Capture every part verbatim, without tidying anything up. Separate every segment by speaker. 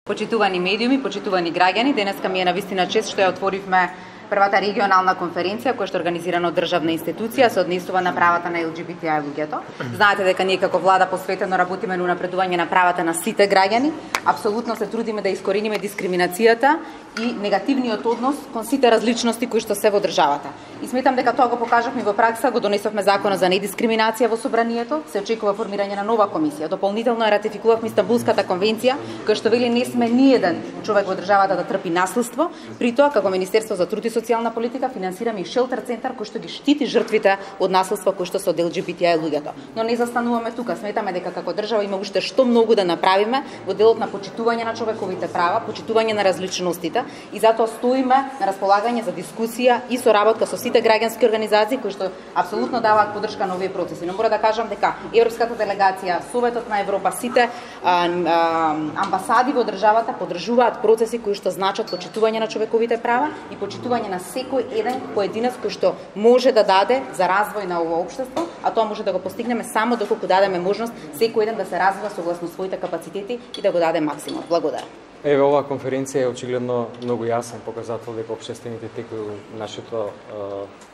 Speaker 1: Почитувани медиуми, почитувани граѓани, денеска ми е навистина чест што ја отворивме првата регионална конференција која што е организирана од државна институција се однесува на правата на Ел Џи Би Ти Ај луѓето. Знаете дека ние како влада посветено работиме на унапредување на правата на сите граѓани. Апсолутно се трудиме да искорениме дискриминацијата и негативниот однос кон сите различности кои што се во државата. И сметам дека тоа го покажавме во пракса, го донесовме законот за недискриминација во собранието, се очекува формирање на нова комисија. Дополнително ја ратификувавме Истанбулската конвенција, која што вели не сме ниеден човек во државата да трпи насилство. При тоа како Министерство за труд и социјална политика финансираме и шелтер центар кој што ги штити жртвите од насилство кој што се од Ел Џи Би Ти Ај луѓето. Но не застануваме тука, сметаме дека како држава има уште што многу да направиме во делот на почитување на човековите права, почитување на различностите и затоа стоиме на располагање за дискусија и соработка со сите граѓански организации кои што апсолутно даваат поддршка на овие процеси. Но мора да кажам дека Европската делегација, Советот на Европа, сите а, а, амбасади во државата поддржуваат процеси кои што значат почитување на човековите права и почитување на секој еден поединец кој што може да даде за развој на ово општество, а тоа може да го постигнеме само доколку дадеме можност секој еден да се развива согласно своите капацитети и да го даде максимум. Благодарам.
Speaker 2: Еве, оваа конференција е очигледно многу јасен показател дека општествените текови во нашето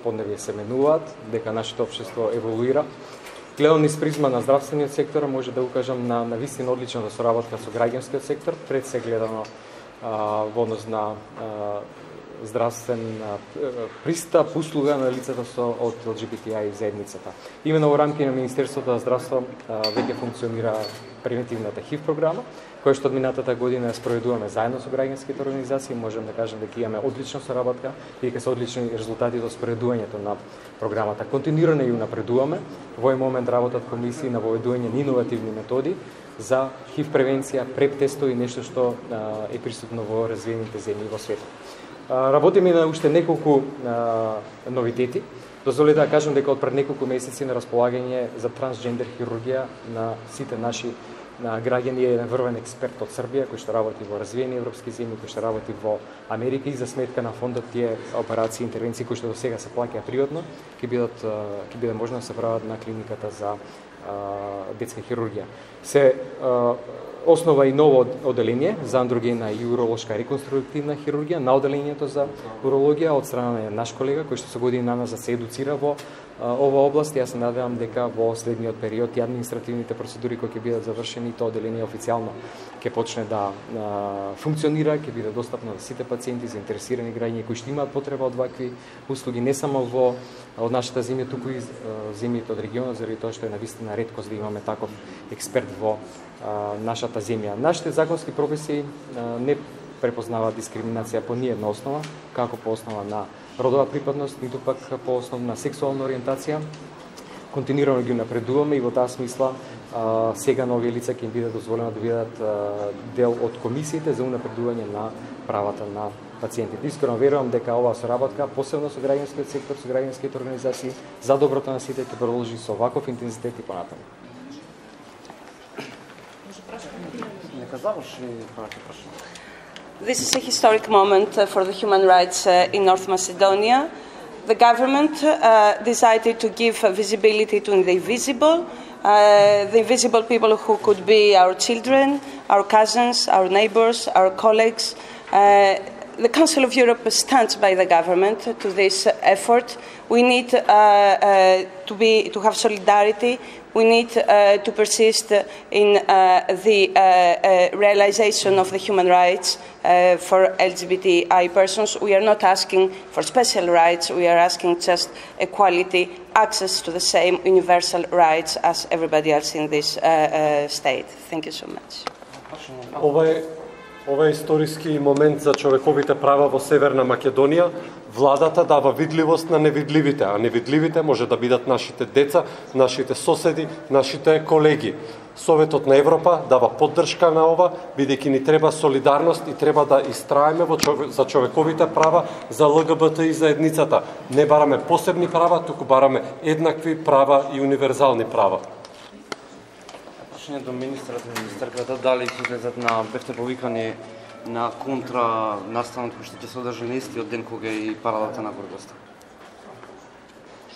Speaker 2: поднебје се менуваат, дека нашето општество еволуира. Гледам низ призма на здравствениот сектор, може да укажам на навистина одличната соработка со граѓанскиот сектор, пред се гледано а, во однос на а, здравствен пристап, услуга на лицата со од Ел Џи Би Ти Ај заедницата. Имено во рамки на Министерството за здравство веќе функционира превентивната ХИВ програма, која што од минатата година ја спроведуваме заедно со граѓанските организации. Можем да кажем дека имаме одлична соработка и дека се одлични резултати од спроведувањето на програмата. Континуирано ја напредуваме. Во овој момент работат комисии на воведување на иновативни методи за ХИВ превенција, преп тестови, нешто што е присутно во развиените земји во светот. Работиме на уште неколку а, новитети. Дозволете да кажам дека од пред неколку месеци на располагање за трансджендер хирургија на сите наши на граѓани е еден врвен експерт од Србија кој што работи во развиени европски земји, кој што работи во Америка и за сметка на фондот тие операции и интервенции кои што до сега се плаќаат природно, ќе бидат ќе биде можно да се прават на клиниката за а, детска хирургија. Се а, основа и ново оделение за андрогена и уролошка реконструктивна хирургија на оделението за урологија од страна на наш колега кој што се години наназад се едуцира во а, ова област. Јас се надевам дека во следниот период и административните процедури кои ќе бидат завршени, тоа оделение официјално ќе почне да а, функционира, ќе биде достапно за сите пациенти, заинтересирани граѓани кои што имаат потреба од вакви услуги не само во од нашата земја, туку и земјите од регионот, заради тоа што е навистина реткост да имаме таков експерт во а, нашата земја. Нашите законски прописи а, не препознаваат дискриминација по ниедна основа, како по основа на родова припадност, ниту пак по основа на сексуална ориентација. Континуирано ги напредуваме и во таа смисла а, сега на овие лица ќе им биде дозволено да бидат а, дел од комисиите за унапредување на правата на пациентите. Искрено верувам дека оваа соработка, посебно со граѓанскиот сектор, со граѓанските организации, за доброто на сите ќе продолжи со ваков интензитет и понатаму.
Speaker 3: This is a historic moment uh, for the human rights uh, in North Macedonia. The government uh, decided to give uh, visibility to the invisible, uh, the invisible people who could be our children, our cousins, our neighbors, our colleagues. Uh, the Council of Europe stands by the government to this effort. We need uh, uh, to be to have solidarity. We need uh, to persist in uh, the uh, uh, realization of the human rights uh, for L G B T I persons. We are not asking for special rights. We are asking just equality, access to the same universal rights as everybody else in this uh, uh, state. Thank you so much.
Speaker 4: Ова е историски момент за човековите права во Северна Македонија. Владата дава видливост на невидливите, а невидливите може да бидат нашите деца, нашите соседи, нашите колеги. Советот на Европа дава поддршка на ова, бидејќи ни треба солидарност и треба да истраеме во чове... за човековите права за Л Г Б Т и заедницата. Не бараме посебни права, туку бараме еднакви права и универзални права.
Speaker 5: До министрот и министерката, дали ќе излезат на бевте повикани на контра настанот кој што ќе се одржи на истиот ден кога и парадата на гордоста?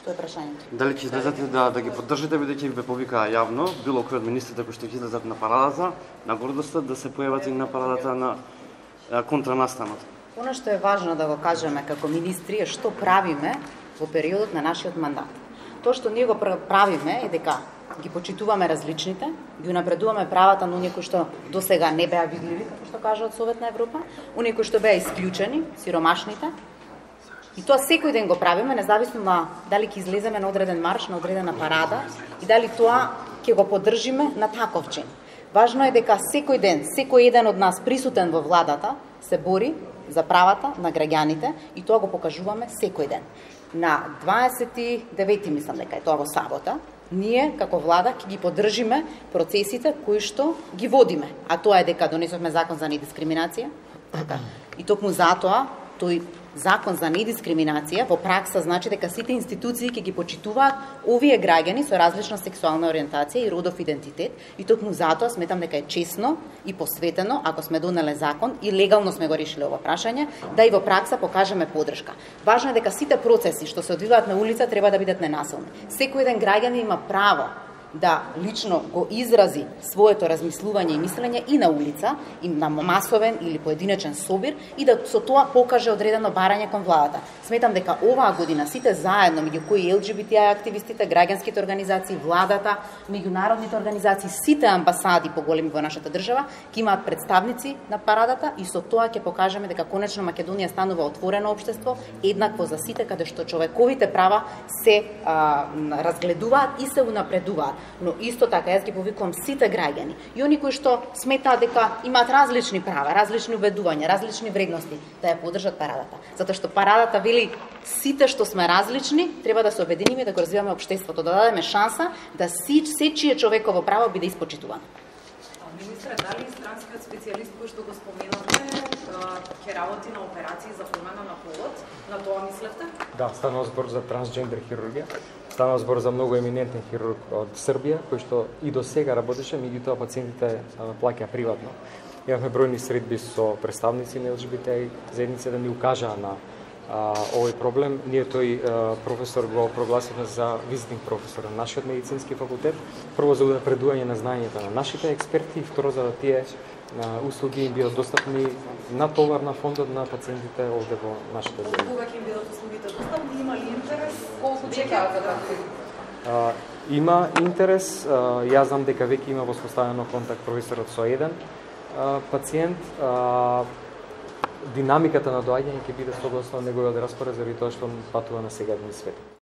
Speaker 1: Што е прашањето?
Speaker 5: Дали ќе излезете да да ги поддржите бидејќи ве повикаа јавно, било кој од министрите кои што ќе излезат на парадата, на гордоста да се појават и на парадата на контранастанот?
Speaker 1: Оно што е важно да го кажеме како министри е што правиме во периодот на нашиот мандат. Тоа што ние го правиме е дека ги почитуваме различните, ги унапредуваме правата на оние кои што досега не беа видливи, како што кажа Совет на Европа, оние кои што беа исклучени, сиромашните. И тоа секој ден го правиме, независно на дали ќе излеземе на одреден марш, на одредена парада и дали тоа ќе го поддржиме на таков чин. Важно е дека секој ден, секој еден од нас присутен во владата се бори за правата на граѓаните и тоа го покажуваме секој ден. На дваесет и девети мислам дека е тоа во сабота, ние како влада ќе ги поддржиме процесите кои што ги водиме, а тоа е дека донесовме закон за недискриминација. И токму затоа тој закон за недискриминација во пракса значи дека сите институции ќе ги почитуваат овие граѓани со различна сексуална ориентација и родов идентитет и токму затоа сметам дека е чесно и посветено ако сме донеле закон и легално сме го решиле ова прашање да и во пракса покажеме поддршка. Важно е дека сите процеси што се одвиваат на улица треба да бидат ненасилни. Секој еден граѓанин има право да лично го изрази своето размислување и мислење и на улица, и на масовен или поединечен собир и да со тоа покаже одредено барање кон владата. Сметам дека оваа година сите заедно, меѓу кои ел џи би ти ај активистите, граѓанските организации, владата, меѓународните организации, сите амбасади поголеми во нашата држава, ќе имаат представници на парадата и со тоа ќе покажеме дека конечно Македонија станува отворено општество, еднакво за сите, каде што човековите права се а, разгледуваат и се унапредуваат. Но исто така јас ги повикувам сите граѓани и они кои што сметаат дека имаат различни права, различни убедувања, различни вредности, да ја поддржат парадата. Затоа што парадата вели сите што сме различни, треба да се обединиме да го развиваме општеството, да дадеме шанса да си сечие човеково право биде испочитувано.
Speaker 6: Министре, дали странскиот специјалист кој што го споменавте ќе работи на операции за промена на полот? На тоа мислевте?
Speaker 2: Да, станува збор за трансджендер хирургија. Станува збор за многу еминентен хирург од Србија, кој што и до сега работеше, меѓутоа пациентите плаќа приватно. Имавме бројни средби со представници на ел џи би ти ај заедница да ни укажаа на а, овој проблем. Ние тој а, професор го прогласивме за визитинг професор на нашиот медицински факултет, прво за унапредување на знаењата на нашите експерти и второ за да тие на услуги им бидат достапни на товар на фондот на пациентите овде во нашите земји.
Speaker 6: Кога ќе им бидат услугите достапни, има ли интерес? Колку чекаат да
Speaker 2: Има интерес, а, јас знам дека веќе има воспоставено контакт професорот со еден а, пациент. А, динамиката на доаѓање ќе биде согласно неговиот распоред заради тоа што он патува на сегадни свет.